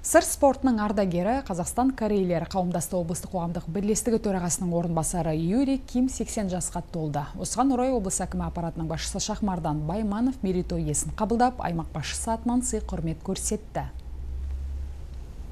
Сыр спортының ардагері Қазақстан корейлер қауымдастығы облыстық қоғамдық бірлестігі төрағасының орынбасары Юрий Ким 80 жасқа толды. Осыған орай облыс әкімі аппаратының басшысы Шахмардан Байманов мерейтой иесін қабылдап, аймақ басшысы атынан сый құрмет көрсетті.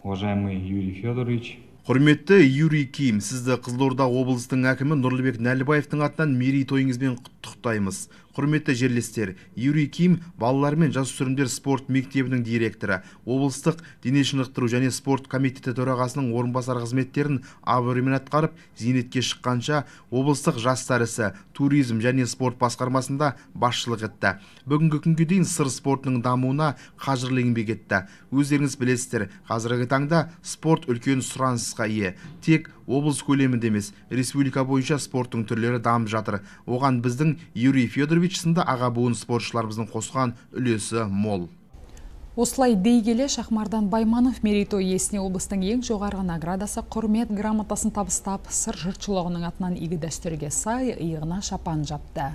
Уважаемый Юрий Федорович, Құрметті Юрий Ким, сізді Қызылорда облыстың әкімі Нұрлыбек Нәлібаевтың атынан мерейтойыңызбен құттықтаймыз. Құрметті жерлестер, Юрий Ким балалар мен жасөспірімдер спорт мектебінің директоры, облыстық дене шынықтыру және спорт комитеті төрағасының орынбасар қызметтерін абыроймен атқарып, зейнетке шыққанша облыстық жастар ісі, туризм және спорт басқармасында басшылық етті. Бүгінгі күнге дейін сыр спортының дамуына қажырлы еңбек етті. Өздеріңіз білесіздер, қазіргі таңда спорт үлкен сұранысқа ие. Тек облыс көлемінде емес, республика бойынша спорттың түрлері дамып жатыр. Оған біздің Юрий Федорович сынды аға буын спортшыларымыздың қосқан үлесі мол. Осылай дей келе Шахмардан Байманов мерейтой иесіне облыстың ең жоғарғы наградасы құрмет грамотасын табыстап, сыр жұртшылығының атынан игі дәстүрге сай иығына шапан жапты.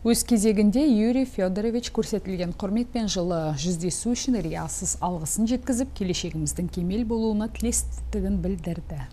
Өз кезегінде Юрий Федорович көрсетілген құрметпен жылы жүздесу үшін риясыз алғысын жеткізіп, келешегіміздің кемел болуына тілестігін білдірді.